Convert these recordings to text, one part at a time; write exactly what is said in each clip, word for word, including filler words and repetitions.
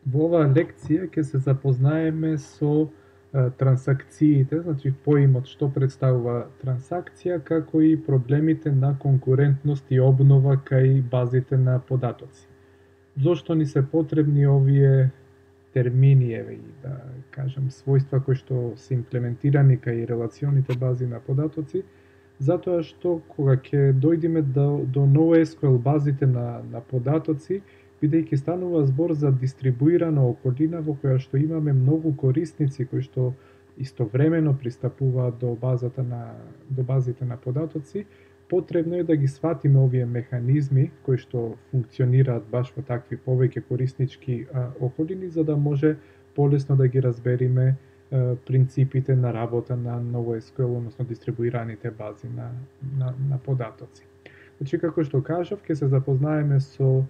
Во оваа лекција ќе се запознаеме со а, трансакциите, значи поимот што представува трансакција, како и проблемите на конкурентност и обнова кај базите на податоци. Зошто ни се потребни овие термини, еве и да кажам својства кои што се имплементирани кај релационите бази на податоци, затоа што кога ќе дојдеме до, до NoSQL базите на, на податоци, бидејќи станува збор за дистрибуирана околина во која што имаме многу корисници кои што истовремено пристапуваат до базата на до базите на податоци, потребно е да ги сватиме овие механизми кои што функционираат баш во такви повеќе кориснички а, околини, за да може полесно да ги разбериме а, принципите на работа на NoSQL, односно дистрибуираните бази на, на, на податоци. Значи, како што кажав, ќе се запознаеме со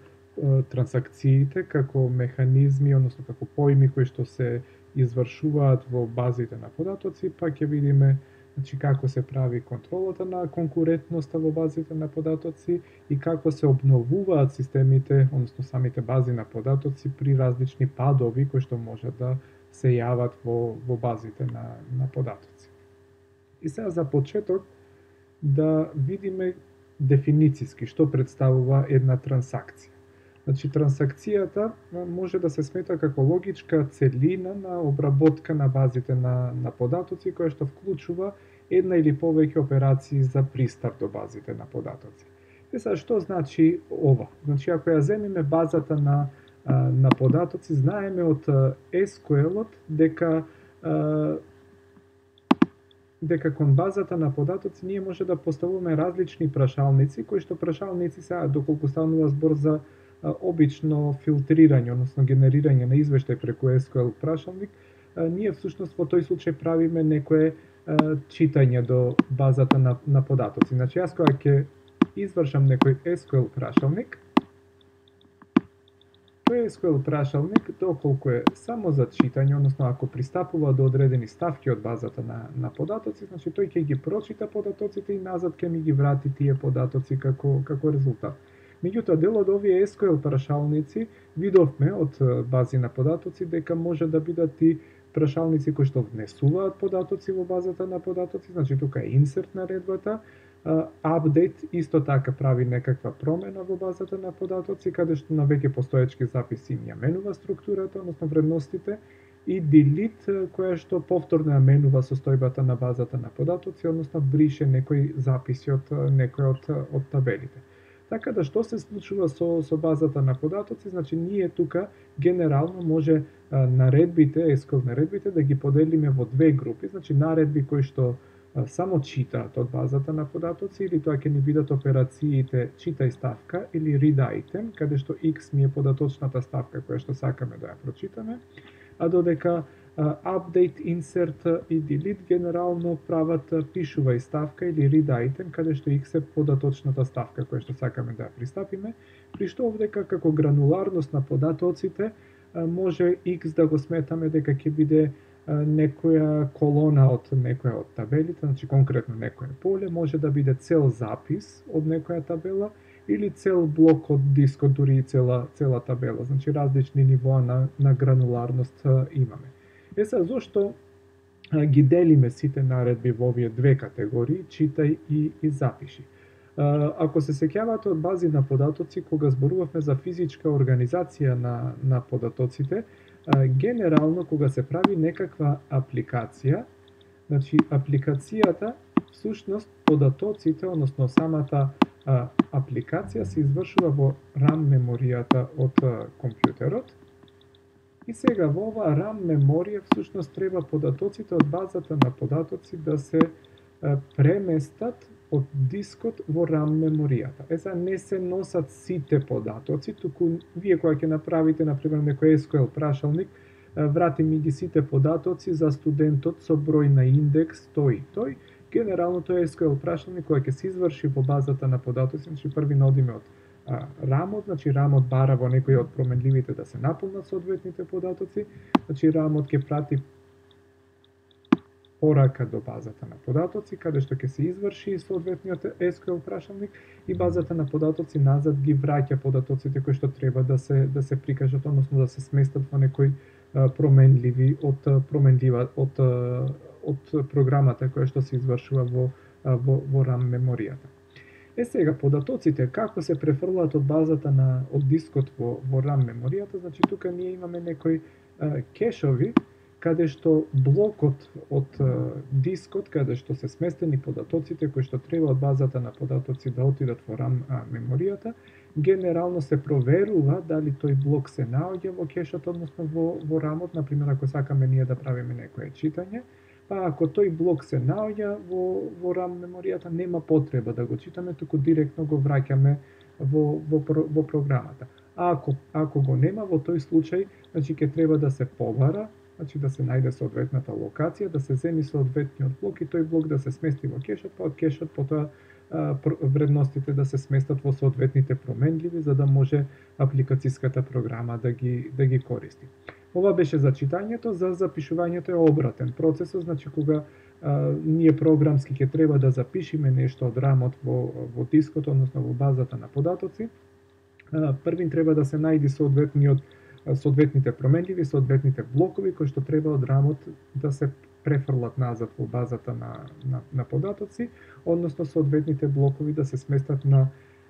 трансакциите како механизми, односно како поими кои што се извршуваат во базите на податоци, па ќе видиме значи, како се прави контролата на конкурентноста во базите на податоци и како се обновуваат системите, односно самите бази на податоци при различни падови кои што може да се јават во, во базите на, на податоци. И сега за почеток да видиме дефинициски што представува една трансакција. Значи, трансакцијата може да се смета како логичка целина на обработка на базите на, на податоци, која што вклучува една или повеќе операции за пристап до базите на податоци. Е сега, што значи ова? Значи, ако ја земеме базата на, на податоци, знаеме од ес ку ел-от дека дека кон базата на податоци ние може да поставуваме различни прашалници, кои што прашалници сега, доколку станува збор за обично филтрирање, односно генерирање на извештај преку ес ку ел прашалник, ние всушност во тој случај правиме некое читање до базата на, на податоци. Значи, јас кога ќе извршам некој ес ку ел прашалник, тој ес ку ел прашалник, доколку е само за читање, односно ако пристапува до одредени ставки од базата на, на податоци, значи тој ќе ги прочита податоците и назад ќе ми ги врати тие податоци како, како резултат. Меѓутоа, дел од овие ес ку ел прашалници видовме од бази на податоци дека може да бидат и прашалници кои што внесуваат податоци во базата на податоци, значи тука е инсерт наредбата, апдейт исто така прави некаква промена во базата на податоци, каде што на веќе постоечки записи им ја менува структурата, односно вредностите, и delete која што повторно ја менува состојбата на базата на податоци, односно брише некои записи од некој од, од табелите. Така да што се случува со, со базата на податоци, значи ние тука генерално може а, наредбите, ес ку ел наредбите да ги поделиме во две групи, значи наредби кои што а, само читаат од базата на податоци или тоа ќе ни бидат операциите читај ставка или read item, каде што X ми е податочната ставка која што сакаме да ја прочитаме, а додека update, insert и delete генерално прават пишувај ставка или read item, каде што X е податочната ставка која што сакаме да ја пристапиме, при што овдека како грануларност на податоците може X да го сметаме дека ќе биде некоја колона од некоја од табелите, значи конкретно некоја поле, може да биде цел запис од некоја табела или цел блок од дискот, дури и цела, цела табела, значи различни нивоа на, на грануларност имаме. Е сега, зошто ги делиме сите наредби во овие две категории, читај и, и запиши? Ако се сеќавате од бази на податоци, кога зборувавме за физичка организација на, на податоците, генерално кога се прави некаква апликација, значи апликацијата, всушност податоците, односно самата а, апликација се извршува во RAM меморијата од а, компјутерот. И сега во оваа RAM меморија всушност треба податоците од базата на податоци да се а, преместат од дискот во RAM меморијата. Е, не се носат сите податоци, туку вие кога ќе направите, например, некој ес ку ел прашалник, врати ми ги сите податоци за студентот со број на индекс тој и тој, генерално тој ес ку ел прашалник кога ќе се изврши во базата на податоци, значи први наодиме од RAM-от, значи RAM-от бара во некој од променливите да се наполнат соодветните податоци, значи RAM-от ќе прати порака до базата на податоци, каде што ќе се изврши соодветниот ес кю ел прашалник и базата на податоци назад ги враќа податоците кои што треба да се да се прикажат, односно да се сместат во некои променливи од променлива од од програмата која што се извршува во во, во RAM меморијата. Е сега, податоците како се префрлаат од базата на од дискот во, во RAM меморијата, значи тука ние имаме некои а, кешови, каде што блокот од а, дискот, каде што се сместени податоците кои што треба од базата на податоци да отидат во RAM а, меморијата, генерално се проверува дали тој блок се наоѓа во кешот, односно во, во RAM-от, например ако сакаме ние да правиме некое читање, па ако тој блок се наоѓа во, во RAM меморијата, нема потреба да го читаме, туку директно го враќаме во, во, во програмата. А ако, ако го нема, во тој случај, значи ќе треба да се побара, значи да се најде соодветната локација, да се земи соодветниот блок и тој блок да се смести во кешот, па од кешот потоа вредностите да се сместат во соодветните променливи за да може апликацијската програма да ги да ги користи. Ова беше за читањето, за запишувањето е обратен процесот, значи кога а, ние програмски ќе треба да запишеме нешто од рамот во во дискот, односно во базата на податоци, а, првин треба да се најди соодветниот соодветните променливи, соодветните блокови кои што треба од рамот да се префрлат назад во базата на, на, на податоци, односно соодветните блокови да се сместат на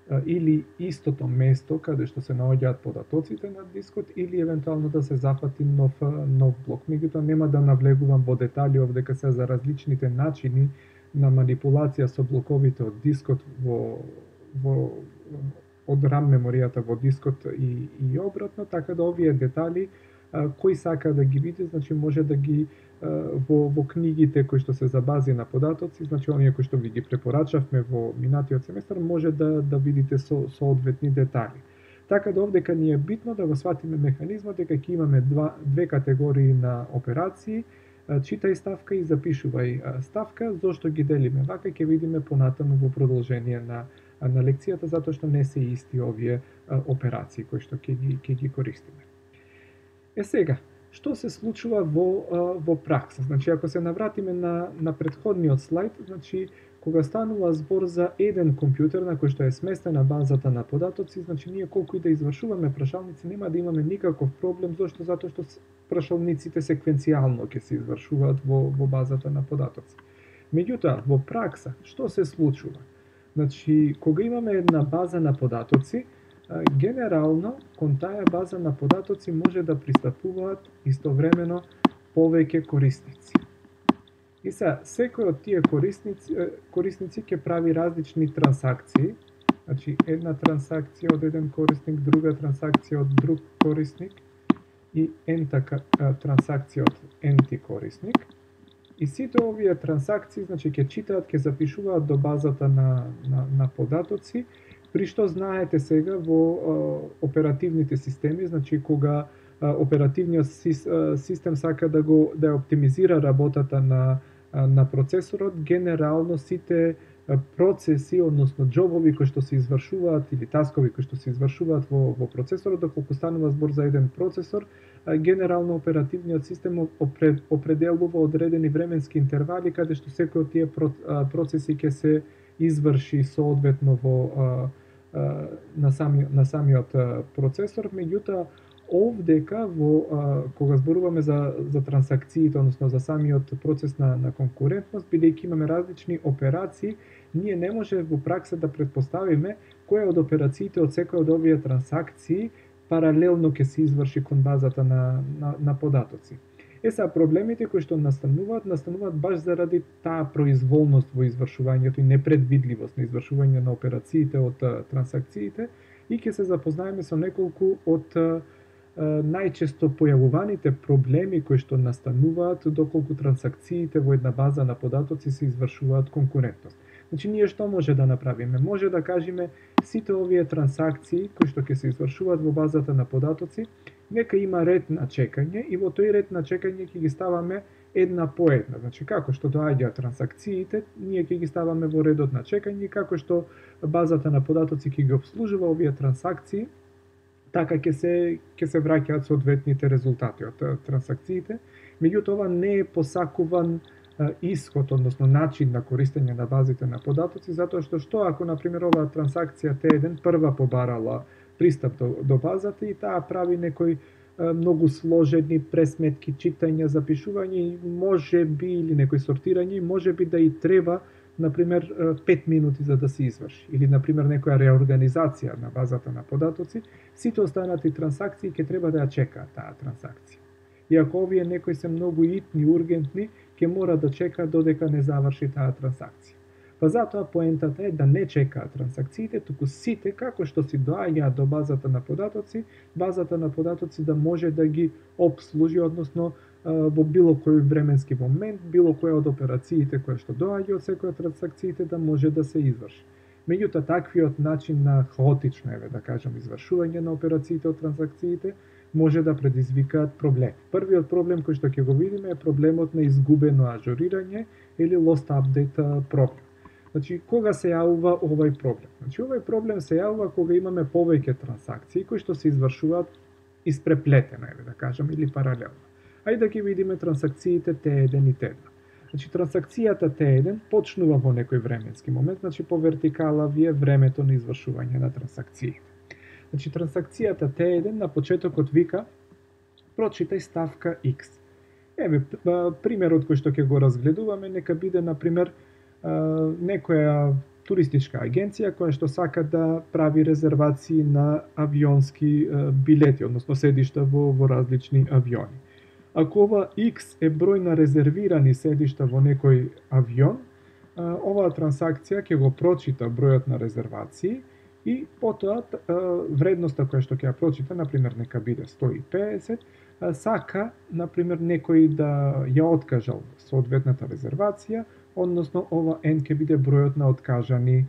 а, или истото место каде што се наоѓаат податоците на дискот, или евентуално да се зафати нов, нов блок. Меѓутоа нема да навлегувам во детали овдека се за различните начини на манипулација со блоковите од дискот во, во од RAM меморијата во дискот и, и обратно, така да овие детали а, кој сака да ги види, значи може да ги а, во, во книгите кои што се за бази на податоци, значи оние кои што ви ги препорачавме во минатиот семестар, може да да видите со соодветни детали. Така да овдека ни е битно да го сватиме механизмот дека ќе имаме два, две категории на операции, читај ставка и запишувај ставка. Зошто ги делиме вака ќе видиме понатаму во продолжение на на лекцијата, затоа што не се исти овие а, операции кои што ќе ги ќе ги користиме. Е сега, што се случува во а, во пракса? Значи ако се навратиме на на претходниот слајд, значи кога станува збор за еден компјутер на кој што е сместена базата на податоци, значи ние колку и да извршуваме прашалници нема да имаме никаков проблем, зошто? Затоа што прашалниците секвенцијално ќе се извршуваат во во базата на податоци. Меѓутоа, во пракса што се случува? Значи, кога имаме една база на податоци, генерално кон таа база на податоци може да пристапуваат истовремено повеќе корисници. И сега, секој од тие корисници, корисници ќе прави различни трансакции, значи една трансакција од еден корисник, друга трансакција од друг корисник и ента трансакција од енти корисник. И сите овие трансакции, значи, ќе читаат, ќе запишуваат до базата на, на, на податоци, при што знаете сега во а, оперативните системи, значи кога а, оперативниот сис, а, систем сака да го да оптимизира работата на а, на процесорот, генерално сите а, процеси, односно џобови кои што се извршуваат или таскови кои што се извршуваат во во процесорот, доколку станува збор за еден процесор, генерално оперативниот систем определува одредени временски интервали каде што секој од тие процеси ќе се изврши соодветно во на самиот на самиот процесор. Меѓутоа овдека во кога зборуваме за за трансакциите, односно за самиот процес на на конкурентност, бидејќи имаме различни операции, ние не може во пракса да претпоставиме која од операциите од секоја од овие трансакции паралелно ќе се изврши кон базата на, на, на податоци. Е сега, проблемите кои што настануваат, настануваат баш заради таа произволност во извршувањето и непредвидливост на извршување на операциите од а, трансакциите и ќе се запознаеме со неколку од а, најчесто појавуваните проблеми кои што настануваат доколку трансакциите во една база на податоци се извршуваат конкурентност. Значи, ние што може да направиме? Може да кажеме сите овие трансакции кои што ќе се извршуваат во базата на податоци, нека има ред на чекање и во тој ред на чекање ќе ги ставаме една по една. Значи, како што доаѓаат трансакциите, ние ќе ги ставаме во редот на чекање, како што базата на податоци ќе ги обслужува овие трансакции, така ќе се ќе се враќаат соодветните резултати од трансакциите. Меѓутоа ова не е посакуван исход, односно начин на користење на базите на податоци, затоа што што ако на пример оваа трансакција Т еден прва побарала пристап до, до базата и таа прави некои многу сложени пресметки, читања, запишување и може би или некои сортирање, може би да и треба на пример пет минути за да се изврши или на пример некоја реорганизација на базата на податоци, сите останати трансакции ќе треба да ја чекаат таа трансакција. И ако овие некои се многу итни, ургентни, ќе мора да чека додека не заврши таа трансакција. Па затоа поентата е да не чекаат трансакциите, туку сите како што си доаѓаат до базата на податоци, базата на податоци да може да ги обслужи, односно во било кој временски момент, било која од операциите која што доаѓа од секоја од трансакциите да може да се изврши. Меѓутоа, таквиот начин на хаотично, еве да кажам, извршување на операциите од трансакциите може да предизвикаат проблем. Првиот проблем кој што ќе го видиме е проблемот на изгубено ажурирање или lost update проблем. Значи, кога се јавува овој проблем? Значи, овој проблем се јавува кога имаме повеќе трансакции кои што се извршуваат испреплетено, еве да кажам, или паралелно. Ајде да ги видиме трансакциите Т еден и Т два. Значи, трансакцијата Т еден почнува во некој временски момент, значи по вертикала ви е времето на извршување на трансакциите. Значи, трансакцијата Т еден на почетокот вика прочитај ставка X. Еве, примерот кој што ќе го разгледуваме, нека биде, на пример, некоја туристичка агенција која што сака да прави резервации на авионски билети, односно седишта во, во различни авиони. Ако ова X е број на резервирани седишта во некој авион, оваа трансакција ќе го прочита бројот на резервации и потоа вредноста која што ќе ја прочита, например, нека биде сто и педесет, сака, например, некој да ја откажал соодветната резервација, односно ова N ќе биде бројот на откажани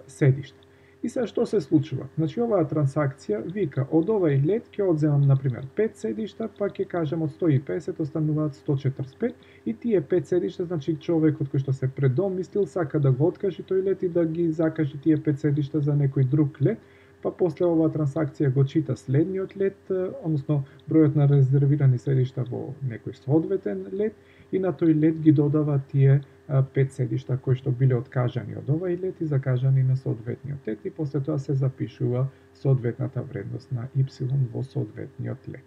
седишта. И сега што се случува? Значи, оваа трансакција вика, од овај лет ќе одземам, например, пет седишта, па ќе кажам од сто и педесет остануваат сто четрдесет и пет, и тие пет седишта, значи човекот кој што се предомислил, сака да го откаже тој лет и да ги закаже тие пет седишта за некој друг лет, па после оваа трансакција го чита следниот лет, односно бројот на резервирани седишта во некој соодветен лет, и на тој лет ги додава тие пет седишта кои што биле откажани од овај лет и закажани на соодветниот лет, и после тоа се запишува соодветната вредност на Y во соодветниот лет.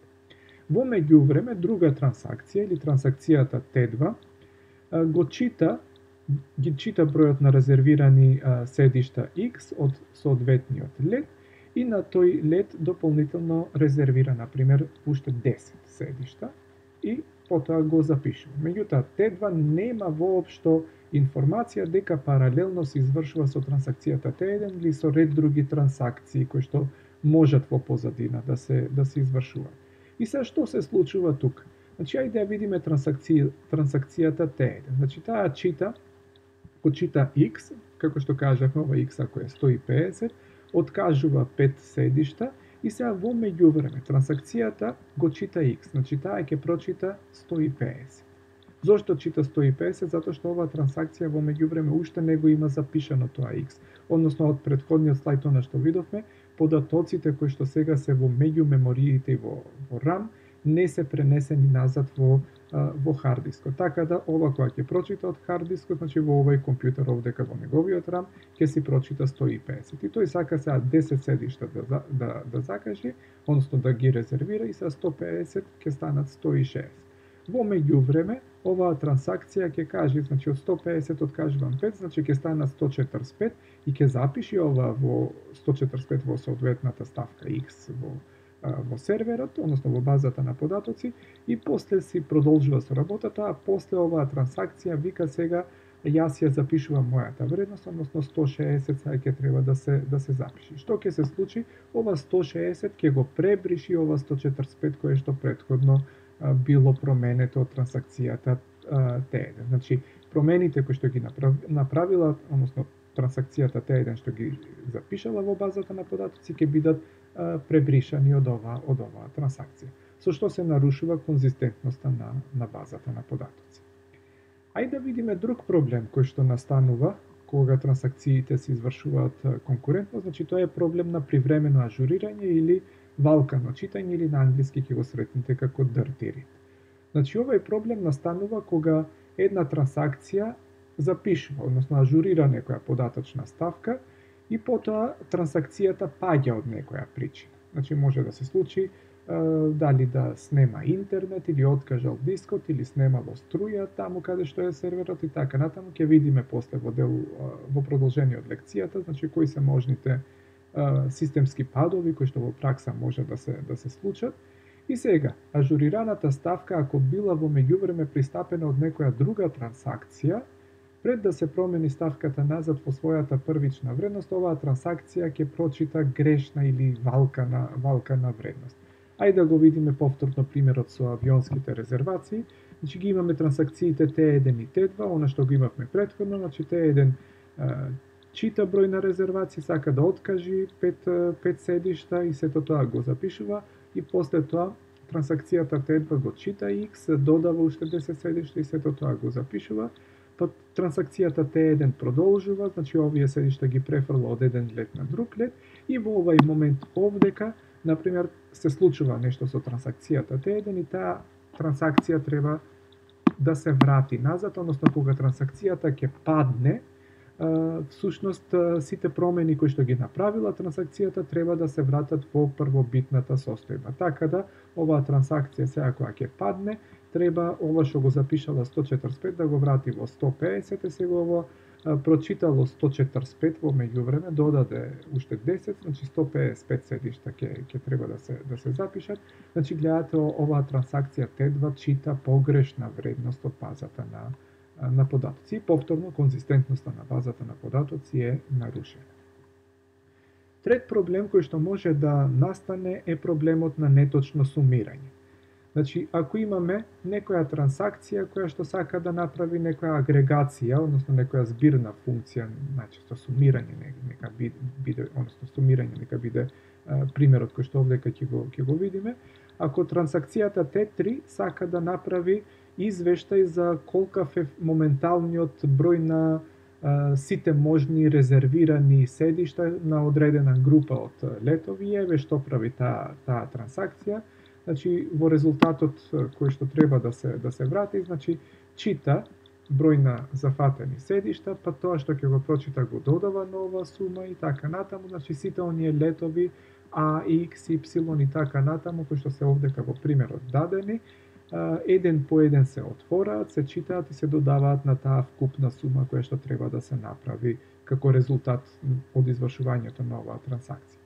Во меѓувреме, друга трансакција или трансакцијата Т два го чита, ги чита бројот на резервирани седишта X од соодветниот лет и на тој лет дополнително резервира, например, уште десет седишта и потоа го запишува. Меѓутоа, Т два нема воопшто информација дека паралелно се извршува со трансакцијата Т еден или со ред други трансакции кои што можат во позадина да се да се извршуваат. И сега што се случува тука? Значи, ајде да видиме трансакција, трансакцијата Т еден. Значи, таа чита, го чита X, како што кажавме, ова X ако е сто и педесет, откажува пет седишта, и сега во меѓувреме трансакцијата го чита X, значи таа ќе прочита сто и педесет. Зошто чита сто и педесет? Затоа што оваа трансакција во меѓувреме уште не го има запишано тоа X. Односно, од претходниот слайд она што видовме, податоците кои што сега се во меѓумемориите и во, во RAM не се пренесени назад во во хард дискот. Така да ова која ќе прочита од хард дискот, значи во овој компјутер овдека во неговиот RAM ќе си прочита сто и педесет. И тој сака сега десет седишта да да да закаже, односно да ги резервира, и сега сто и педесет ќе станат сто и шеесет. Во меѓувреме, оваа трансакција ќе каже, значи од сто и педесет откажувам пет, значи ќе станат сто четрдесет и пет и ќе запиши ова во сто четрдесет и пет во соодветната ставка X во во серверот, односно во базата на податоци, и после си продолжува со работата, а после оваа трансакција вика сега јас ја запишувам мојата вредност, односно сто шеесет сега ќе треба да се да се запиши. Што ќе се случи? Ова сто шеесет ќе го пребриши ова сто четрдесет и пет кое што претходно а, било променето од трансакцијата Т еден. Значи, промените кои што ги направила, односно трансакцијата Т еден што ги запишала во базата на податоци ќе бидат пребришани од оваа од оваа трансакција, со што се нарушува конзистентноста на на базата на податоци. Ајде да видиме друг проблем кој што настанува кога трансакциите се извршуваат конкурентно, значи тоа е проблем на привремено ажурирање или валкано читање, или на англиски ќе го сретнете како dirty read. Значи, овој проблем настанува кога една трансакција запишува, односно ажурира некоја податочна ставка и потоа трансакцијата паѓа од некоја причина. Значи може да се случи дали да снема интернет или откажал дискот или снемало струја таму каде што е серверот и така натаму. Ќе видиме после во дел во продолжение од лекцијата, значи кои се можните системски падови кои што во пракса може да се да се случат. И сега, ажурираната ставка ако била во меѓувреме пристапена од некоја друга трансакција, пред да се промени ставката назад во својата првична вредност, оваа трансакција ќе прочита грешна или валкана валкана вредност. Ајде да го видиме повторно примерот со авионските резервации. Значи ги имаме трансакциите Т еден и Т два, она што го имавме претходно, значи Т еден чита број на резервации, сака да откажи пет, пет седишта и сето тоа го запишува и после тоа трансакцијата Т два го чита X, додава уште десет седишта и сето тоа го запишува. Па трансакцијата Т еден продолжува, значи овие седишта ги префрла од еден лет на друг лет и во овај момент овдека, например, се случува нешто со трансакцијата Т еден и таа трансакција треба да се врати назад, односно кога трансакцијата ќе падне, всушност сите промени кои што ги направила трансакцијата треба да се вратат во првобитната состојба. Така да оваа трансакција сега кога ќе падне, треба ова што го запишала сто четрдесет и пет да го врати во сто педесет, сега ово прочитало сто четрдесет и пет во меѓувреме, додаде уште десет, значи сто педесет и пет седишта ќе ќе треба да се да се запишат. Значи гледате оваа трансакција Т два чита погрешна вредност од базата на на податоци. Повторно конзистентноста на базата на податоци е нарушена. Трет проблем кој што може да настане е проблемот на неточно сумирање. Значи, ако имаме некоја трансакција која што сака да направи некоја агрегација, односно некоја збирна функција, најчесто сумирање нека биде, односно сумирање нека биде а, примерот кој што овдека ќе го ќе го видиме, ако трансакцијата Т три сака да направи извештај за колкав е моменталниот број на а, сите можни резервирани седишта на одредена група од летови, еве што прави таа таа трансакција. Значи во резултатот кој што треба да се да се врати, значи чита број на зафатени седишта, па тоа што ќе го прочита го додава нова сума и така натаму, значи сите оние летови А, X, Y и така натаму кои што се овдека во примерот дадени, еден по еден се отвораат, се читаат и се додаваат на таа вкупна сума која што треба да се направи како резултат од извршувањето на оваа трансакција.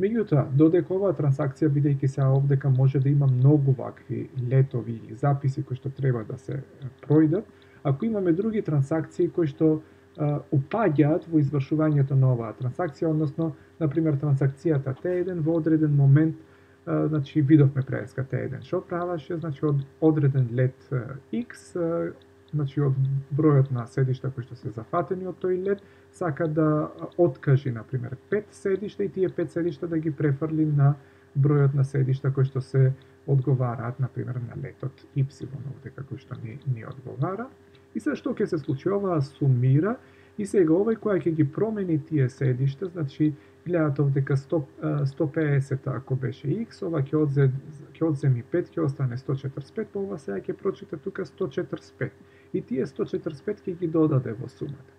Меѓутоа, додека оваа трансакција, бидејќи се овдека може да има многу вакви летови или записи кои што треба да се пројдат, ако имаме други трансакции кои што упаѓаат во извршувањето на оваа трансакција, односно, например, трансакцијата Т еден во одреден момент, значи видовме преска Т еден што правеше, значи од одреден лет X, значи од бројот на седишта кои што се зафатени од тој лет, сака да откажи, например, пет седишта и тие пет седишта да ги префрли на бројот на седишта кои што се одговараат, например, на летот Y, овдека кој што ни, ни одговара. И се што ќе се случи, оваа сумира и сега овој која ќе ги промени тие седишта, значи гледате овдека сто, сто педесет ако беше X, ова ќе одзе ќе одземи пет, ќе остане сто четрдесет и пет, па ова сега ќе прочита тука сто четрдесет и пет. И тие сто четрдесет и пет ќе ги додаде во сумата.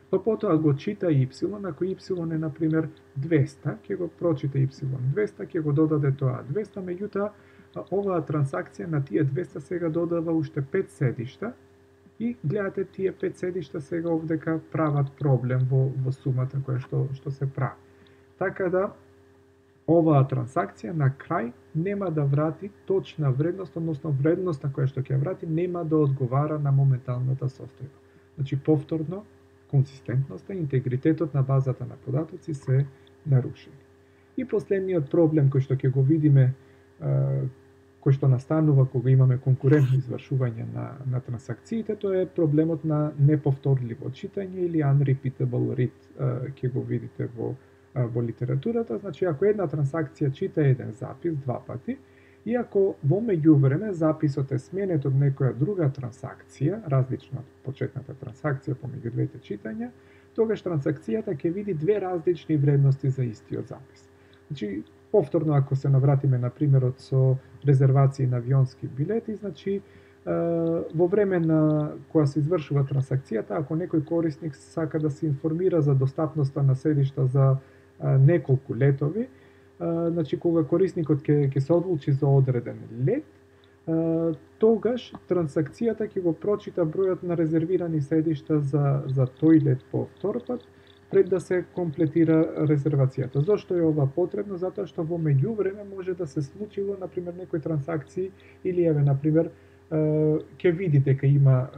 Па потоа го чита Y, ако Y е например двеста, ќе го прочита Y двеста, ќе го додаде тоа двеста, меѓутоа оваа трансакција на тие двеста сега додава уште пет седишта и гледате тие пет седишта сега овдека прават проблем во во сумата која што што се прави. Така да оваа трансакција на крај нема да врати точна вредност, односно вредноста која што ќе врати нема да одговара на моменталната состојба. Значи повторно консистентноста и интегритетот на базата на податоци се нарушени. И последниот проблем кој што ќе го видиме, кој што настанува кога имаме конкурентно извршување на на трансакциите, тоа е проблемот на неповторливо читање или unrepeatable read, ќе го видите во во литературата. Значи ако една трансакција чита еден запис два пати и ако во меѓувреме записот е сменет од некоја друга трансакција, различна од почетната трансакција помеѓу двете читања, тогаш трансакцијата ќе види две различни вредности за истиот запис. Значи, повторно ако се навратиме на примерот со резервации на авионски билети, значи во време на кога се извршува трансакцијата, ако некој корисник сака да се информира за достапноста на седишта за неколку летови, значи кога корисникот ќе ќе се одлучи за одреден лет, тогаш трансакцијата ќе го прочита бројот на резервирани седишта за за тој лет по втор пат пред да се комплетира резервацијата. Зошто е ова потребно? Затоа што во меѓувреме може да се случило на пример некои трансакции или еве на пример ќе види дека има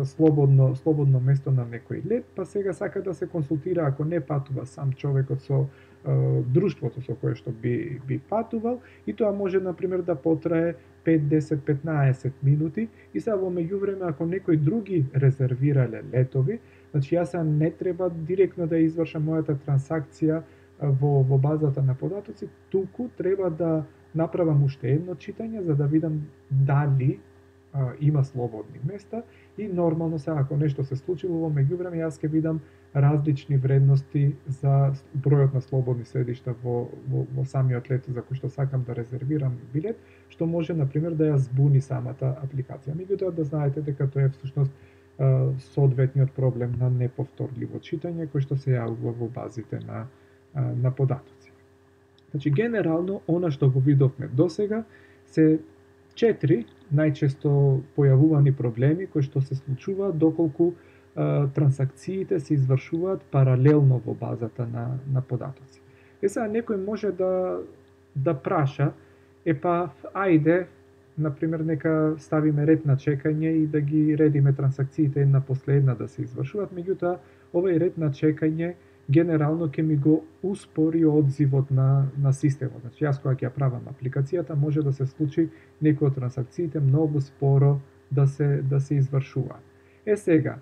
слободно слободно место на некој лет, па сега сака да се консултира ако не патува сам човекот со друштвото со кое што би би патувал, и тоа може на пример да потрае пет, десет, петнаесет минути, и сега во меѓувреме ако некои други резервирале летови, значи јас не треба директно да извршам мојата трансакција во во базата на податоци, туку треба да направам уште едно читање за да видам дали а, има слободни места, и нормално се ако нешто се случило во меѓувреме јас ќе видам различни вредности за бројот на слободни седишта во, во, во самиот лет за кој што сакам да резервирам билет, што може на пример да ја збуни самата апликација. Меѓутоа да знаете дека тоа е всушност соодветниот проблем на неповторливо читање кој што се јавува во базите на на податоци. Значи генерално она што го видовме досега се четири најчесто појавувани проблеми кои што се случуваат доколку а, трансакциите се извршуваат паралелно во базата на на податоци. Е сега некој може да да праша, е па ајде например нека ставиме ред на чекање и да ги редиме трансакциите една после една да се извршуваат, меѓутоа овој ред на чекање генерално ќе ми го успори одзивот на на системот. Значи јас кога ќе ја правам апликацијата може да се случи некои од трансакциите многу споро да се да се извршуваат. Е сега,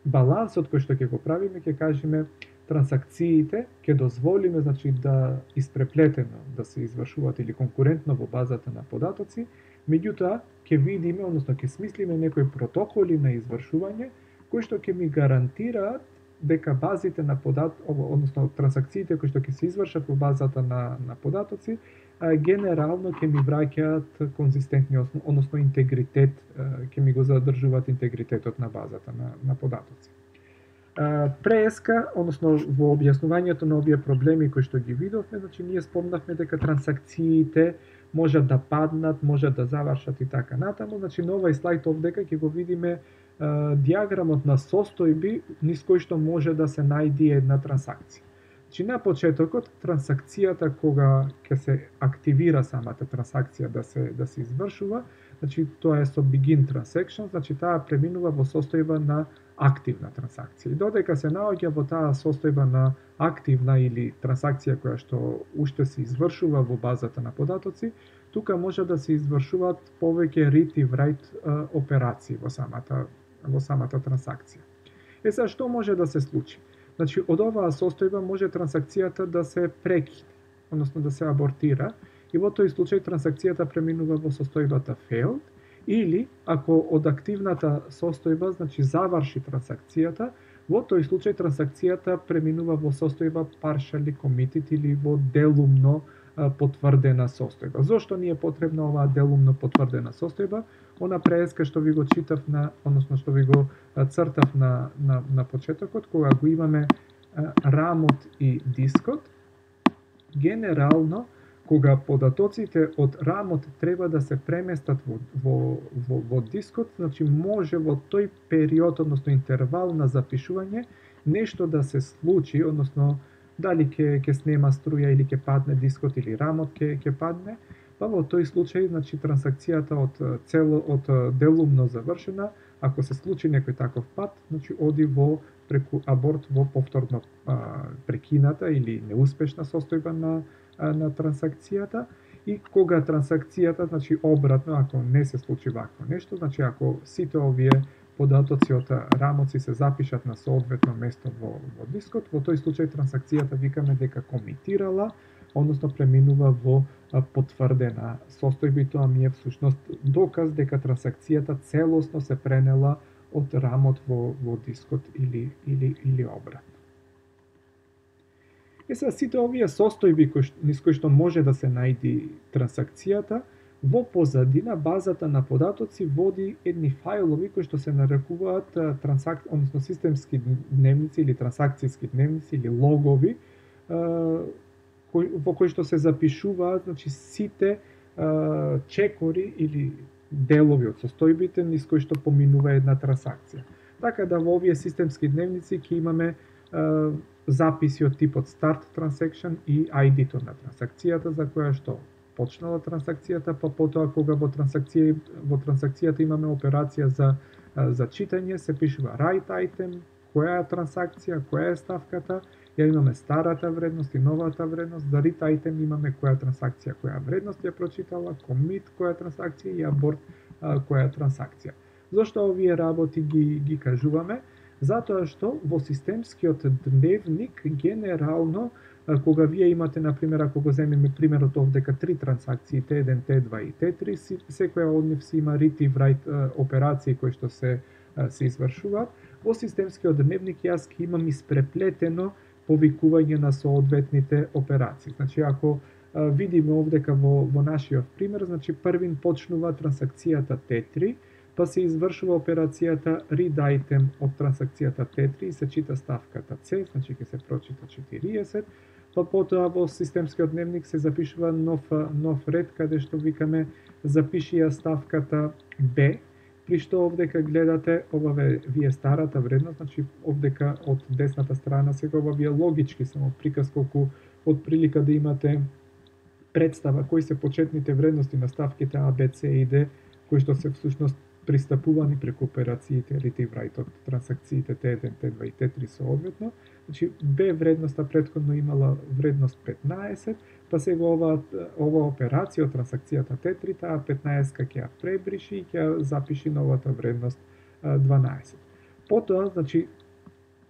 балансот кој што ќе го правиме, ќе кажеме трансакциите ќе дозволиме значи да испреплетено да се извршуваат или конкурентно во базата на податоци, меѓутоа ќе видиме, односно ќе смислиме некои протоколи на извршување кои што ќе ми гарантираат дека базите на подат, односно трансакциите кои што ќе се извршат во базата на на податоци, генерално ќе ми враќаат конзистентни, односно интегритет, ќе ми го задржуваат интегритетот на базата на на податоци. Преска, односно во објаснувањето на овие проблеми кои што ги видовме, значи ние спомнавме дека трансакциите можат да паднат, можат да завршат и така натаму, значи на овој слайд овдека ќе го видиме диаграмот на состојби низ кој што може да се најди една трансакција. Значи на почетокот трансакцијата кога ќе се активира самата трансакција да се да се извршува, значи тоа е со begin transaction, значи таа преминува во состојба на активна трансакција. И додека се наоѓа во таа состојба на активна или трансакција која што уште се извршува во базата на податоци, тука може да се извршуваат повеќе read и write операции во самата во самата трансакција. Е сега што може да се случи? Значи од оваа состојба може трансакцијата да се прекине, односно да се абортира, и во тој случај трансакцијата преминува во состојбата failed, или ако од активната состојба значи заврши трансакцијата, во тој случај трансакцијата преминува во состојба partially committed или во делумно потврдена состојба. Зошто ни е потребна оваа делумно потврдена состојба? Она преска што ви го читав на, односно што ви го цртав на на на почетокот, кога го имаме рамот и дискот, генерално кога податоците од рамот треба да се преместат во во во, во дискот, значи може во тој период, односно интервал на запишување, нешто да се случи, односно дали ќе ќе снема струја или ќе падне дискот или рамот ќе ќе падне, па во тој случај значи трансакцијата од цело од делумно завршена, ако се случи некој таков пат, значи оди во преку аборт во повторно а, прекината или неуспешна состојба на на трансакцијата, и кога трансакцијата, значи обратно, ако не се случи вакво нешто, значи ако сите овие податоци од рамоци се запишат на соодветно место во, во дискот, во тој случај трансакцијата викаме дека комитирала, односно преминува во потврдена состојба, и тоа ми е всушност доказ дека трансакцијата целосно се пренела од рамот во, во дискот или, или, или обратно. Е сега сите овие состојби кои, низ кои што може да се најди трансакцијата, Во позадина базата на податоци води едни фајлови кои што се нарекуваат трансак... односно системски дневници или трансакцијски дневници или логови, кои, во кои што се запишуваат, значи, сите чекори или делови од состојбите низ кои што поминува една трансакција. Така да во овие системски дневници ќе имаме записи од типот start transaction и ај ди-то на трансакцијата за која што почнала трансакцијата, па потоа кога во трансакција во трансакцијата имаме операција за за читање, се пишува write item, која е трансакција, која е ставката, ја имаме старата вредност и новата вредност, за read item имаме која трансакција, која вредност ја прочитала, commit која трансакција и abort која трансакција. Зошто овие работи ги ги кажуваме? Затоа што во системскиот дневник генерално кога вие имате, например, ако го земеме примерот овдека три трансакции, Т еден, Т два и Т три, секоја од нив си има read и write операции кои што се се извршуваат, во системскиот дневник јас ќе имам испреплетено повикување на соодветните операции. Значи, ако видиме овдека во, во нашиот пример, значи првин почнува трансакцијата Т три, па се извршува операцијата read item од трансакцијата Т три и се чита ставката С, значи ќе се прочита четириесет, па потоа во системскиот дневник се запишува нов, нов ред каде што викаме запиши ја ставката Б, при што овдека гледате, ова вие старата вредност, значи овдека од десната страна сега ова вие логички само приказ колку од прилика да имате представа кои се почетните вредности на ставките А, Б, С и Д, кои што се всушност пристапувани преку операциите read и write од трансакциите Т еден, Т два и Т три соодветно. Значи Б вредноста претходно имала вредност петнаесет, па сега ова ова операција од трансакцијата Т три, таа петнаесет ќе ја пребриши и ќе запиши новата вредност дванаесет. Потоа, значи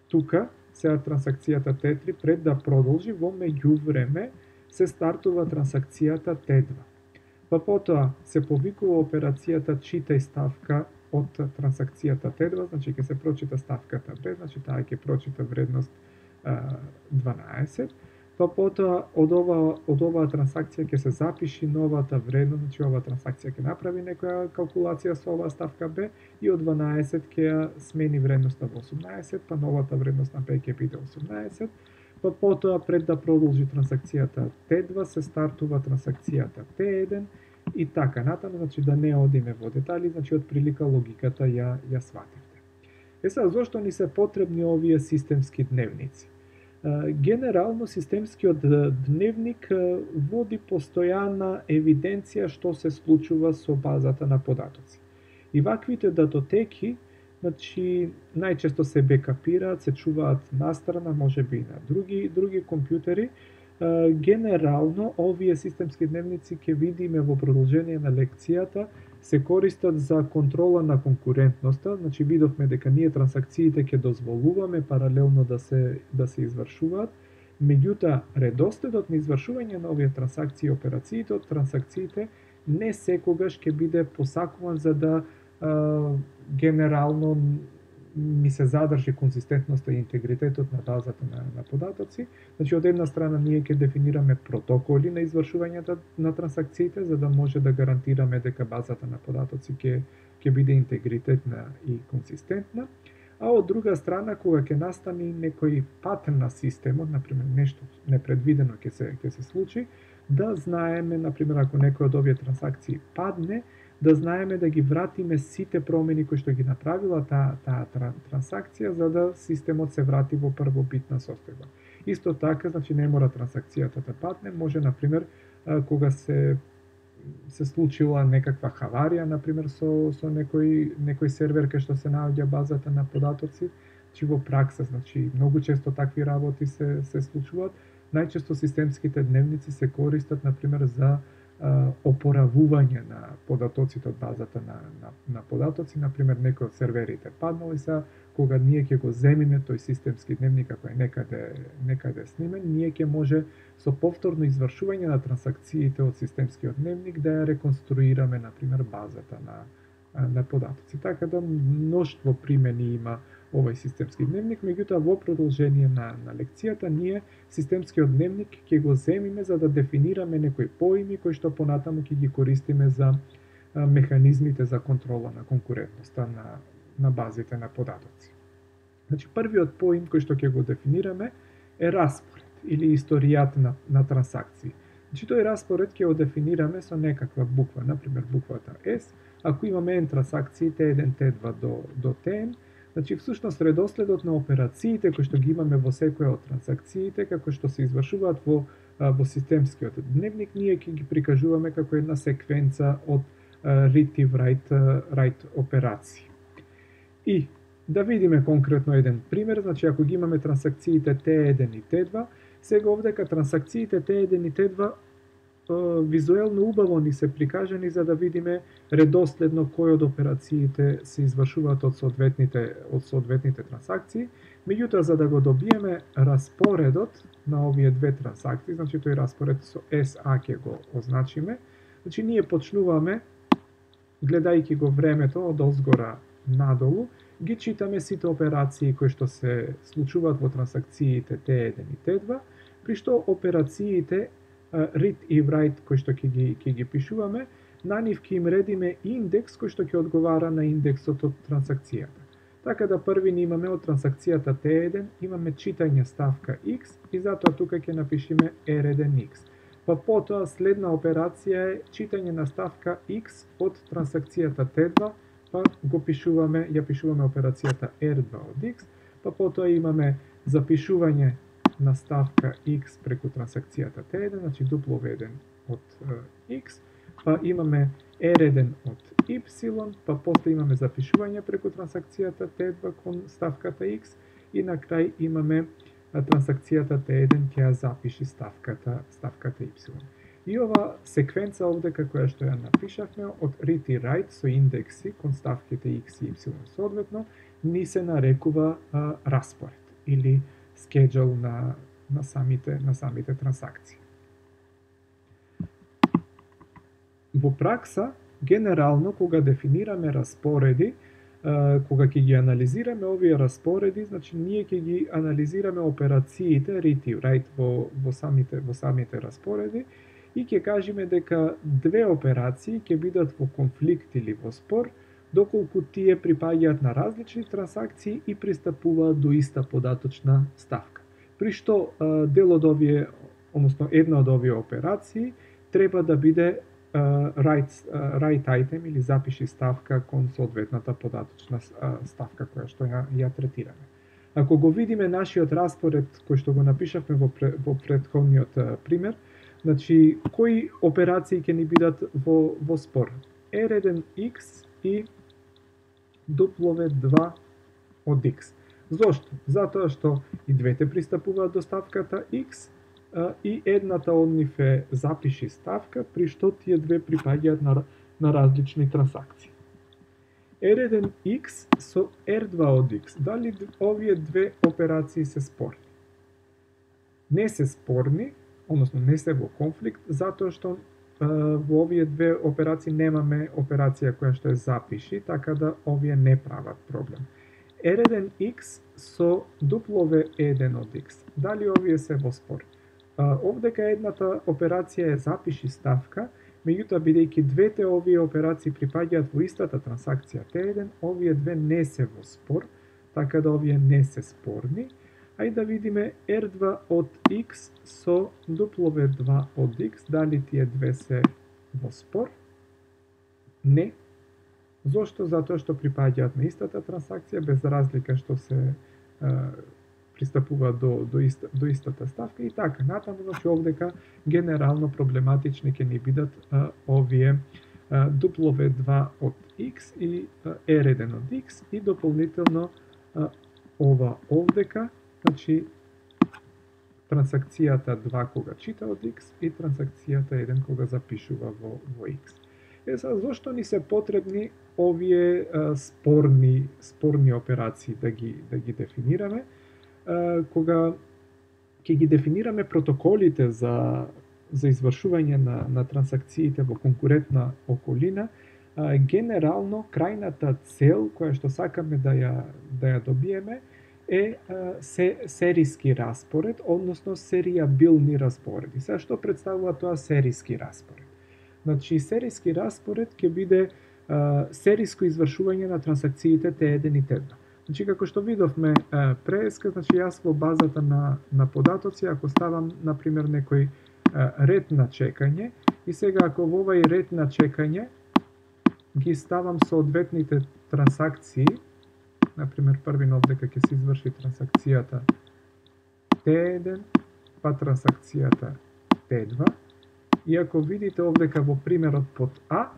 тука сега трансакцијата Т три пред да продолжи во меѓувреме се стартува трансакцијата Т два. Па потоа се повикува операцијата читај ставка од трансакцијата Т два, значи ќе се прочита ставката Б, значи таа ќе прочита вредност дванаесет, па потоа од ова од оваа трансакција ќе се запиши новата вредност, значи оваа трансакција ќе направи некоја калкулација со оваа ставка Б и од дванаесет ќе ја смени вредноста во осумнаесет, па новата вредност на Б ќе биде осумнаесет, па потоа пред да продолжи трансакцијата Т два се стартува трансакцијата Т еден и така натаму, значи да не одиме во детали, значи од прилика логиката ја ја свативте. Е сега, зошто ни се потребни овие системски дневници? Генерално системскиот дневник води постојана евиденција што се случува со базата на податоци. И ваквите датотеки, значи најчесто се бекапираат, се чуваат настрана, можеби и на други други компјутери. Генерално овие системски дневници ќе видиме во продолжение на лекцијата се користат за контрола на конкурентноста, значи видовме дека ние трансакциите ќе дозволуваме паралелно да се да се извршуваат, меѓутоа редоследот на извршување на овие трансакции и операциите од трансакциите не секогаш ќе биде посакуван за да а, генерално ми се задржи конзистентноста и интегритетот на базата на, на податоци. Значи, од една страна ние ќе дефинираме протоколи на извршувањето на трансакциите, за да може да гарантираме дека базата на податоци ќе ќе биде интегритетна и конзистентна. А од друга страна, кога ќе настане некој патен на системот, например нешто непредвидено ќе се ќе се случи, да знаеме, например, ако некој од овие трансакции падне, да знаеме да ги вратиме сите промени кои што ги направила таа таа трансакција за да системот се врати во првобитна состојба. Исто така, значи не мора трансакцијата да падне, може на пример кога се се случила некаква хаварија, на пример со со некој некој сервер кај што се наоѓа базата на податоци, значи во пракса, значи многу често такви работи се се случуваат. Најчесто системските дневници се користат на пример за опоравување на податоците од базата на, на, на податоци, например некој од серверите паднал и са, кога ние ќе го земиме тој системски дневник, ако е некаде, некаде снимен, ние ќе може со повторно извршување на трансакциите од системскиот дневник да ја реконструираме, например, базата на, на податоци. Така да мноштво примени има овој системски дневник, меѓутоа во продолжение на, на лекцијата ние системскиот дневник ќе го земиме за да дефинираме некои поими кои што понатаму ќе ги користиме за а, механизмите за контрола на конкурентноста на, на базите на податоци. Значи, првиот поим кој што ќе го дефинираме е распоред или историјат на, на трансакции. Значи, тој распоред ќе го дефинираме со некаква буква, например буквата S. Ако имаме N трансакции Т еден, Т два до, до Tn, значи всушност редоследот на операциите кои што ги имаме во секоја од трансакциите, како што се извршуваат во, во системскиот дневник, ние ќе ги прикажуваме како една секвенца од read и write, write операции. И да видиме конкретно еден пример, значи ако ги имаме трансакциите Т еден и Т два, сега овдека трансакциите Т еден и Т два визуелно убаво ни се прикажани за да видиме редоследно кои од операциите се извршуваат од соодветните од соодветните трансакции. Меѓутоа, за да го добиеме распоредот на овие две трансакции, значи тој распоред со С А ќе го означиме, значи ние почнуваме гледајќи го времето од озгора надолу, ги читаме сите операции кои што се случуваат во трансакциите Т еден и Т два, при што операциите read и write кои што ќе ги ќе ги пишуваме, на нив ќе им редиме индекс кој што ќе одговара на индексот од трансакцијата. Така да први ни имаме од трансакцијата Т еден, имаме читање ставка X и затоа тука ќе напишеме R еден X. Па потоа следна операција е читање на ставка X од трансакцијата Т два, па го пишуваме, ја пишуваме операцијата R два од X, па потоа имаме запишување на ставка X преку трансакцијата Т еден, значи W еден од uh, X, па имаме R еден од Y, па после имаме запишување преку трансакцијата Т два кон ставката X и на крај имаме uh, трансакцијата Т еден ќе ја запиши ставката, ставката Y. И ова секвенца овдека која што ја напишавме од read и write со индекси кон ставките X и Y соодветно, ни се нарекува uh, распоред или schedule на, на, самите, на самите трансакции. Во пракса, генерално, кога дефинираме распореди, кога ќе ги анализираме овие распореди, значи ние ќе ги анализираме операциите read и write во, во, самите, во самите распореди и ќе кажеме дека две операции ќе бидат во конфликт или во спор, доколку тие припаѓаат на различни трансакции и пристапуваат до иста податочна ставка. При што дел од овие, односно една од овие операции треба да биде uh, write, uh, write item или запиши ставка кон соодветната податочна uh, ставка која што ја, ја третираме. Ако го видиме нашиот распоред кој што го напишавме во, во претходниот uh, пример, значи кои операции ќе ни бидат во, во спор? R еден X и W два од X. Зошто? Затоа што и двете пристапуваат до ставката X а, и едната од нив е запиши ставка, при што тие две припаѓаат на, на различни трансакции. R еден X со R два од X. Дали овие две операции се спорни? Не се спорни, односно не се во конфликт, затоа што во овие две операции немаме операција која што е запиши, така да овие не прават проблем. R еден X со W еден од X. Дали овие се во спор? Овдека едната операција е запиши ставка, меѓутоа бидејќи двете овие операции припаѓаат во истата трансакција Т еден, овие две не се во спор, така да овие не се спорни. Ајде да видиме R два од X со W два од X, дали тие две се во спор? Не. Зошто? Затоа што припаѓаат на истата трансакција, без разлика што се е, пристапуваат до, до, иста, до истата ставка и така натаму, значи овдека генерално проблематични ќе ни бидат е, овие е, W два од X и е, R еден од X и дополнително е, ова овдека, значи трансакцијата два кога чита од X и трансакцијата еден кога запишува во, во X. Е, сега, зошто ни се потребни овие а, спорни, спорни операции да ги, да ги дефинираме? А, кога ќе ги дефинираме протоколите за, за извршување на, на трансакциите во конкурентна околина, генерално крајната цел која што сакаме да ја да ја добиеме е се, сериски распоред, односно серијабилни распореди. Сега што представува тоа сериски распоред? Значи, сериски распоред ќе биде а, сериско извршување на трансакциите Т еден и Т два. Значи, како што видовме а, преска, значи јас во базата на, на податоци, ако ставам, например, некој а, ред на чекање, и сега ако во овај ред на чекање ги ставам соодветните трансакции, например, првин овдека ќе се изврши трансакцијата Т еден, па трансакцијата Т два, и ако видите овдека во примерот под А,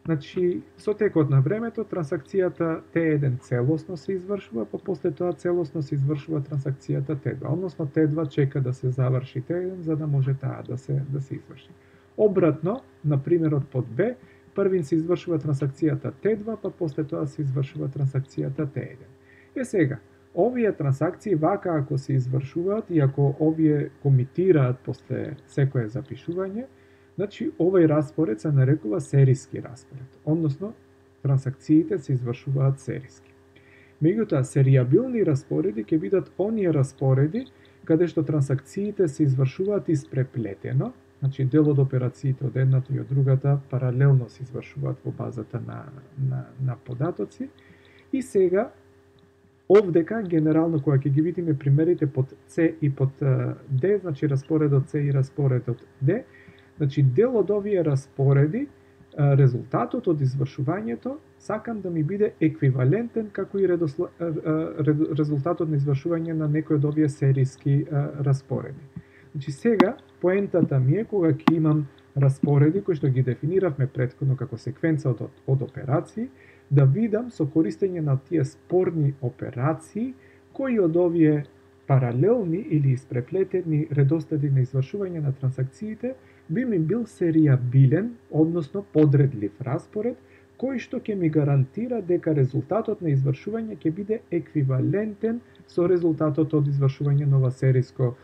значи, со текот на времето, трансакцијата Т еден целосно се извршува, па после тоа целосно се извршува трансакцијата Т два, односно Т два чека да се заврши Т еден, за да може таа да се, да се изврши. Обратно, на примерот под Б, првин се извршува трансакцијата Т два, па после тоа се извршува трансакцијата Т еден. Е сега, овие трансакции вака ако се извршуваат и ако овие комитираат после секое запишување, значи овај распоред се нарекува сериски распоред, односно трансакциите се извршуваат сериски. Меѓутоа, серијабилни распореди ќе бидат оние распореди каде што трансакциите се извршуваат испреплетено, значи дел од операциите од едната и од другата паралелно се извршуваат во базата на, на, на податоци. И сега, овдека, генерално, кога ќе ги видиме примерите под С и под Д, значи распоредот С и распоредот Д, значи дел од овие распореди, резултатот од извршувањето, сакам да ми биде еквивалентен како и редосло... резултатот на извршување на некој од овие сериски распореди. Значи сега, поентата ми е кога ќе имам распореди кои што ги дефиниравме претходно како секвенца од, од операции, да видам со користење на тие спорни операции кои од овие паралелни или испреплетени редоследи на извршување на трансакциите би ми бил серијабилен, односно подредлив распоред, кој што ќе ми гарантира дека резултатот на извршување ќе биде еквивалентен со резултатот од извршување на ова сериско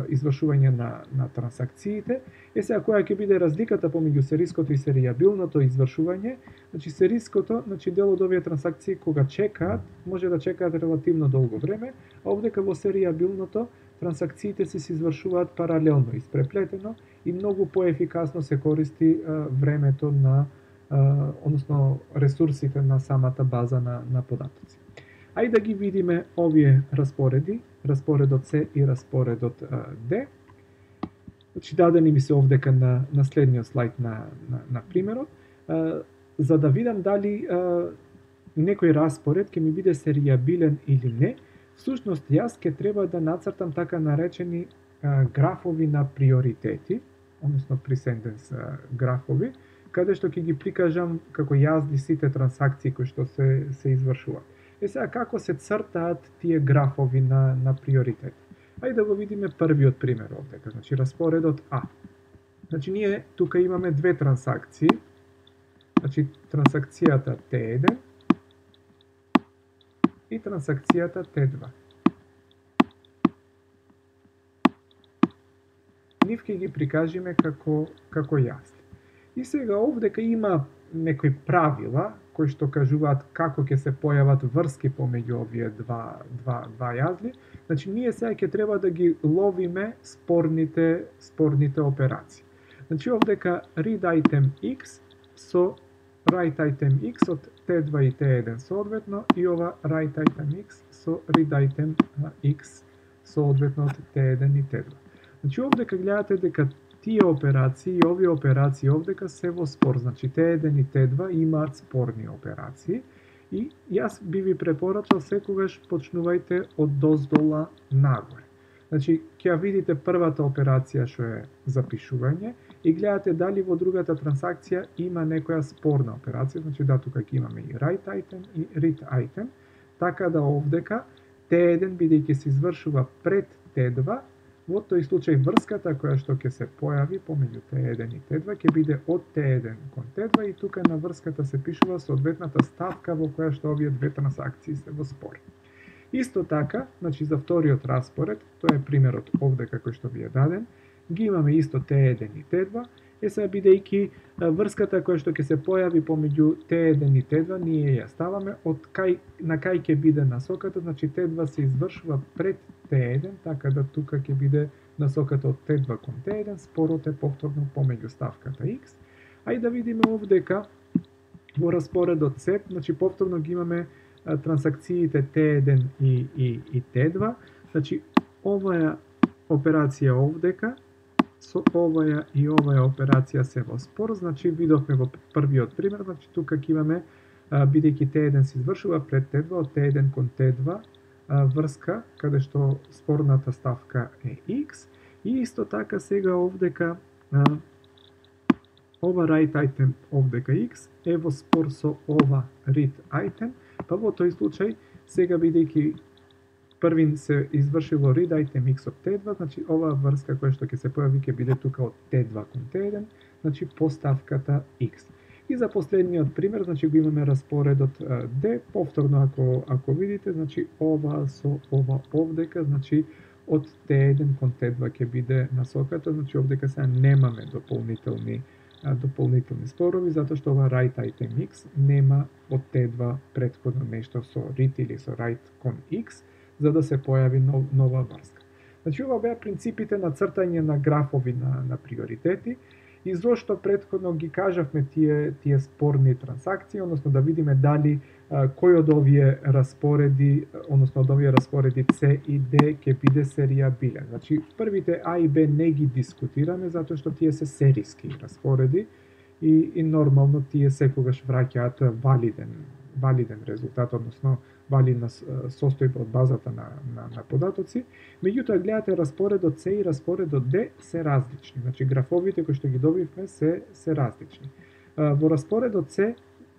извршување на, на трансакциите. Е сега, која ќе биде разликата помеѓу сериското и серијабилното извршување? Значи, сериското, значи дел од овие трансакции кога чекаат, може да чекаат релативно долго време, а овдека во серијабилното трансакциите се се извршуваат паралелно, испреплетено и многу поефикасно се користи а, времето на, а, односно ресурсите на самата база на, на податоци. Ајде да ги видиме овие распореди, распоредот С и распоредот а, Д. Значи, дадени ми се овдека на, на следниот слайд на, на, на примерот, а, за да видам дали а, некој распоред ќе ми биде серијабилен или не. Всушност, јас ќе треба да нацртам така наречени а, графови на приоритети, односно пресенденс графови, каде што ќе ги прикажам како јазди сите трансакции кои што се, се извршуваат. Е сега, како се цртаат тие графови на, на приоритет? Ајде да го видиме првиот пример овдека, значи распоредот А. Значи ние тука имаме две трансакции, значи трансакцијата Т еден и трансакцијата Т два. Нив ќе ги прикажиме како, како јазди. И сега овдека има некои правила кои што кажуваат како ќе се појават врски помеѓу овие два, два, два јазли. Значи, ние сега ќе треба да ги ловиме спорните, спорните операции. Значи, овдека read item X со write item X од Т два и Т еден соодветно и ова write item X со read item X соодветно од Т еден и Т два. Значи, овдека гледате дека тие операции и овие операции овдека се во спор, значи Т еден и Т два имаат спорни операции и јас би ви препорачал секогаш почнувајте од доздола нагоре. Значи, ќе видите првата операција што е запишување и гледате дали во другата трансакција има некоја спорна операција, значи да, тука ќе имаме и write item и read item, така да овдека Т еден бидејќи се извршува пред Т два, во тој случај врската која што ќе се појави помеѓу Т еден и Т два ќе биде од Т еден кон Т два и тука на врската се пишува соодветната ставка во која што овие две трансакции се во спор. Исто така, значи за вториот распоред, тоа е примерот овдека кој што ви е даден, ги имаме исто Т еден и Т два Е сега бидејќи врската која што ќе се појави помеѓу Т еден и Т два, ние ја ставаме од кај на кај ќе биде насоката, значи Т два се извршува пред Т еден, така да тука ќе биде насоката од Т два кон Т еден, спорот е повторно помеѓу ставката X. Ајде да видиме овдека во распоредот С, значи повторно ги имаме трансакциите Т еден и, и, и Т два, значи оваа операција овдека, со оваа и оваа операција се во спор, значи видовме во првиот пример, значи тука ќе имаме, бидејќи Т еден се извршува пред Т два, од Т еден кон Т два, врска, каде што спорната ставка е X, и исто така сега овдека, ова write item овдека X е во спор со ова read item, па во тој случај, сега бидејќи првин се извршило read item X од Т два, значи оваа врска која што ќе се појави ќе биде тука од Т два кон Т еден, значи по ставката X. И за последниот пример, значи го имаме распоредот D, повторно ако ако видите, значи ова со ова овдека, значи од Т еден кон Т два ќе биде насоката, значи овдека сега немаме дополнителни дополнителни спорови, затоа што ова write item X нема од Т два претходно нешто со read или со write кон X, за да се појави нов, нова врска. Значи ова беа принципите на цртање на графови на, на приоритети, и зошто претходно ги кажавме тие тие спорни трансакции, односно да видиме дали а, кој од овие распореди, односно од овие распореди С и Д ќе биде серијабилен. Значи првите А и Б не ги дискутираме затоа што тие се сериски распореди и, и нормално тие секогаш враќаат валиден валиден резултат, односно валидна состојба од базата на, на, на податоци. Меѓутоа, гледате, распоредот С и распоредот Д се различни. Значи, графовите кои што ги добивме се, се различни. Во распоредот С,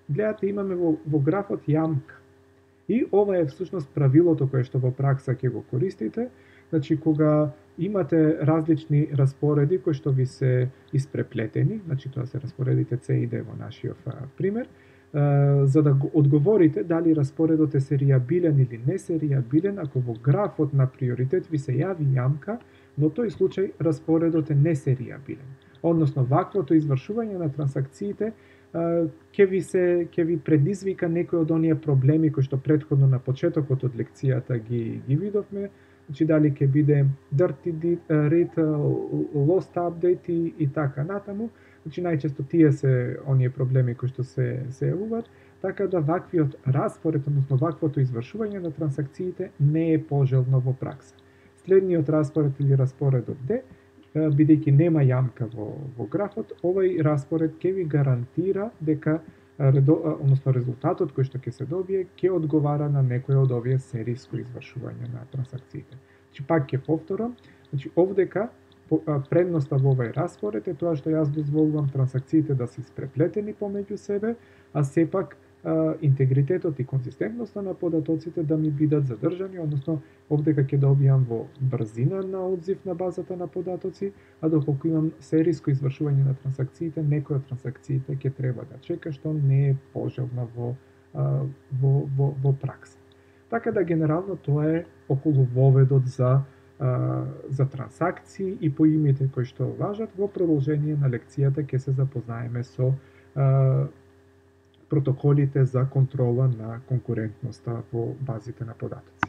гледате, имаме во, во графот јамка. И ова е всушност правилото кое што во пракса ќе го користите. Значи, кога имате различни распореди кои што ви се испреплетени, значи тоа се распоредите С и Д во нашиот пример, за да го одговорите дали распоредот е серијабилен или не серијабилен, ако во графот на приоритет ви се јави јамка, во тој случај распоредот е несеријабилен. Односно, ваквото извршување на трансакциите ќе ви се ќе ви предизвика некои од оние проблеми кои што претходно на почетокот од лекцијата ги ги видовме, значи дали ќе биде dirty read, lost update и, и така натаму. Значи најчесто тие се оние проблеми кои што се се јавуваат, така да ваквиот распоред, односно ваквото извршување на трансакциите не е пожелно во пракса. Следниот распоред или распоредот Д, бидејќи нема јамка во во графот, овој распоред ќе ви гарантира дека односно резултатот кој што ќе се добие ќе одговара на некој од овие сериско извршување на трансакциите. Значи пак ќе повторам, значи овдека предноста во овој распоред е тоа што јас дозволувам трансакциите да се испреплетени помеѓу себе, а сепак интегритетот и конзистентноста на податоците да ми бидат задржани, односно овдека ќе добијам во брзина на одзив на базата на податоци, а доколку имам сериско извршување на трансакциите, некои од трансакциите ќе треба да чека, што не е пожелно во, во, во, во пракса. Така да генерално тоа е околу воведот за за трансакции и поимите кои што важат. Во продолжение на лекцијата ќе се запознаеме со а, протоколите за контрола на конкурентноста во базите на податоци.